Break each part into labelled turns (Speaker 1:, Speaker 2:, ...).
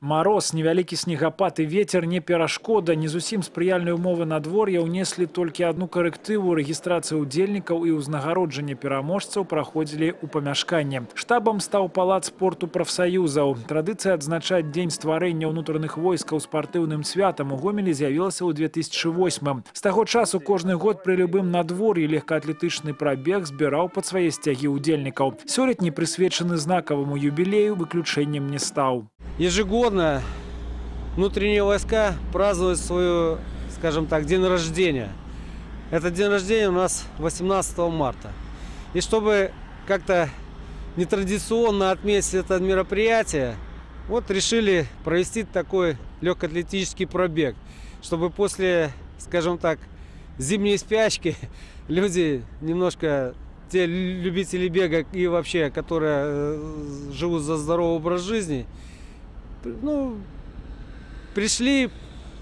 Speaker 1: Мароз, невялікі снегапад і ветер не перашкода. Не зусім спрыяльныя ўмовы надвор'я ўнеслі толькі адну карэктыву. Рэгістрацыя ўдзельнікаў і ўзнагароджанне пераможцаў праходзілі ў памяшканні. Штабам стаў палац спорту прафсаюзаў. Традыцыя адзначаць дзень стварэння ўнутраных войскаў спартыўным святам у Гомелі з'явілася ў 2008. З таго часу кожны год пры любым надвор'і легкаатлетычны прабег збіраў пад свае сцягі ўдзельнікаў. Сёлетні прысвечаны знакаваму юбілею выключэннем не стаў.
Speaker 2: Ежегодно внутренние войска празднуют свой, скажем так, день рождения. Этот день рождения у нас 18 марта. И чтобы как-то нетрадиционно отметить это мероприятие, вот решили провести такой легкоатлетический пробег, чтобы после, скажем так, зимней спячки люди немножко, те любители бега и вообще, которые живут за здоровый образ жизни, пришли,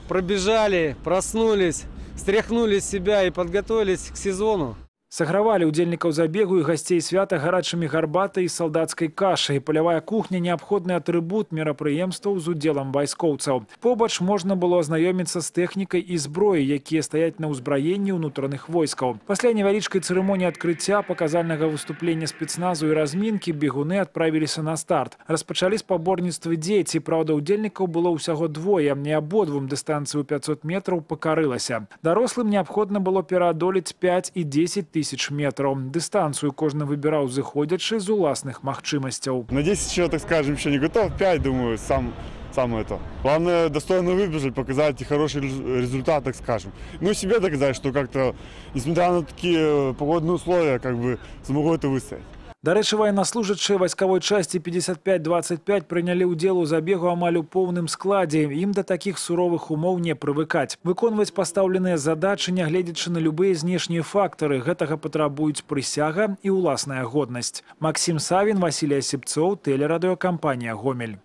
Speaker 2: пробежали, проснулись, стряхнули с себя и подготовились к сезону.
Speaker 1: Сагравалі ўдзельнікаў забегу і гасцей свята гарачымі гарбатай і салдацкай кашай. Палявая кухня – неабходны атрыбут мерапрыемстваў з удзелам вайскоўцаў. Побач можна было азнаёміцца з тэхнікай і зброяй, якія стаяць на ўзбраенні ўнутраных войскаў. Пасля невялічкай цырымоніі адкрыцця, паказальнага выступлення спецназу і размінкі бегуны адправіліся на старт. Распачалі спаборніцтвы дзеці, праўда, удзельнікаў было ўсяго двое, і абодвум дыстанцыю 500 метраў пакарылася. Дарослым неабходна было пераадолець 5 і 10 тысяч метров. Дистанцию кожны выбирал заходячи з уласных махчимостей.
Speaker 3: На 10 еще, так скажем, еще не готов. 5, думаю, сам это. Главное, достойно выбежать, показать хороший результат, так скажем. Ну и себе доказать, что как-то, несмотря на такие погодные условия, как бы смогу это выстоять.
Speaker 1: До рэчы, военнослужащие войсковой части 55-25 прынялі ўдзел у забегу амаль у поўным складзе. Ім да такіх суровых умоў не прывыкаць. Выконваць пастаўленыя задачы, нягледзячы на любыя знешнія фактары. Гэтага патрабуюць прысяга і ўласная годнасць. Максим Савін, Василий Осипцов, телерадиокомпания «Гомель».